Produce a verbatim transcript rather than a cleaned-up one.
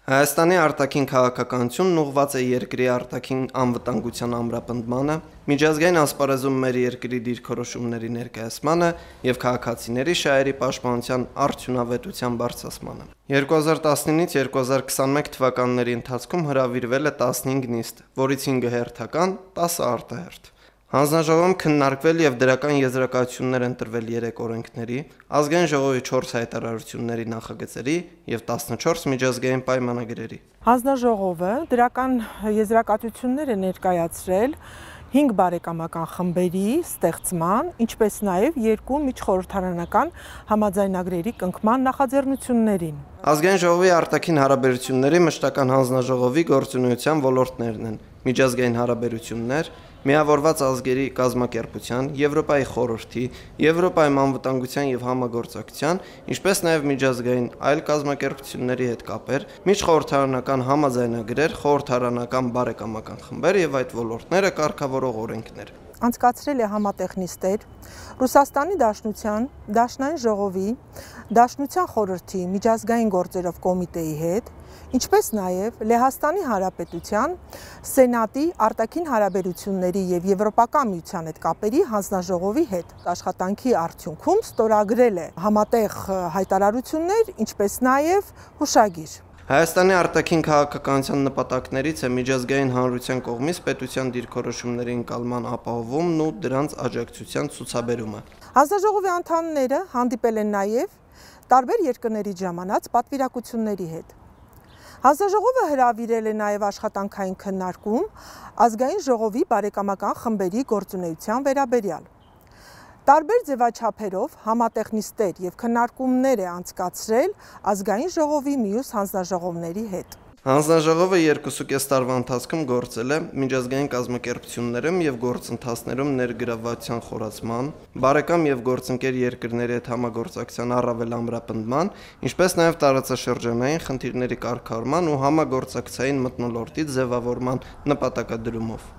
Հայաստանի արտաքին քաղաքականությունն ուղղված է երկրի արտաքին անվտանգության ամրապնդմանը, միջազգային ասպարեզում մեր երկրի դիրքորոշումների ներկայացմանը եւ քաղաքացիների շահերի պաշտպանության արդյունավետության բարձրացմանը։ երկու հազար տասնինից երկու հազար քսաներկու թվականների ընթացքում հրավիրվել է տասնհինգ նիստ, որից հինգը հերթական, տասը արտահերթ։ Հանձնաժողովում քննարկվել եւ դրական եզրակացություններ ընտրվել երեք օրենքների, ազգային ժողովի չորս հայտարարությունների նախագծերի եւ տասնչորս միջազգային պայմանագրերի։ Հանձնաժողովը դրական եզրակացություններ է ներկայացրել հինգ բարեկամական խմբերի ստեղծման, ինչպես նաեւ երկու միջխորհրդարանական համաձայնագրերի կնքման նախաձեռնություններին։ Ազգային ժողովի արտաքին հարաբերությունների մշտական հանձնաժողովի գործունեության ոլորտներն են՝ միջազգային հարաբերություններ, Միավորված ազգերի կազմակերպության, Եվրոպայի խորհրդի, Եվրոպայում անվտանգության եւ համագործակցության, ինչպես նաեւ միջազգային այլ կազմակերպությունների հետ կապեր, միջխորհրդարանական համաձայնագրեր, խորհրդարանական բարեկամական խմբեր եւ այդ ոլորտները կարգավորող օրենքներ։ Անցկացրել է համատեղ նիստեր Ռուսաստանի Դաշնության, Դաշնային ժողովի, Դաշնության խորհրդի միջազգային գործերով կոմիտեի հետ, ինչպես նաև Լեհաստանի Հանրապետության Սենատի արտաքին հարաբերությունների եւ Եվրոպական միության հետ կապերի հանձնաժողովի հետ։ Աշխատանքի արդյունքում ստորագրել է համատեղ հայտարարություններ, ինչպես նաև հուշագիր։ Հայաստանի արտաքին քաղաքականության նպատակներից է միջազգային հանրության կողմից պետության դիրքորոշումների ընկալման ապահովումն ու դրանց աջակցության ցուցաբերումը։ Հանձնաժողովի անդամները հանդիպել են նաև տարբեր երկրների ժամանած պատվիրակությունների հետ։ Հանձնաժողովը հրավիրել է նաև աշխատանքային քննարկում ազգային ժողովի բարեկամական խմբերի գործունեության վերաբերյալ։ Տարբեր ձևաչափերով համատեղ նիստեր եւ քննարկումներ է անցկացրել ազգային ժողովի մյուս հանձնաժողովների հետ։ Հանձնաժողովը երկուսուկես տարվա ընթացքում գործել է միջազգային կազմակերպություններում եւ գործընթացներում ներգրավվածության խորացման, բարեկամ եւ գործընկեր երկրների հետ համագործակցության առավել ամրապնդման, ինչպես նաեւ տարածաշրջանային խնդիրների կարգավորման ու համագործակցային մթնոլորտի ձևավորման նպատակադրումով։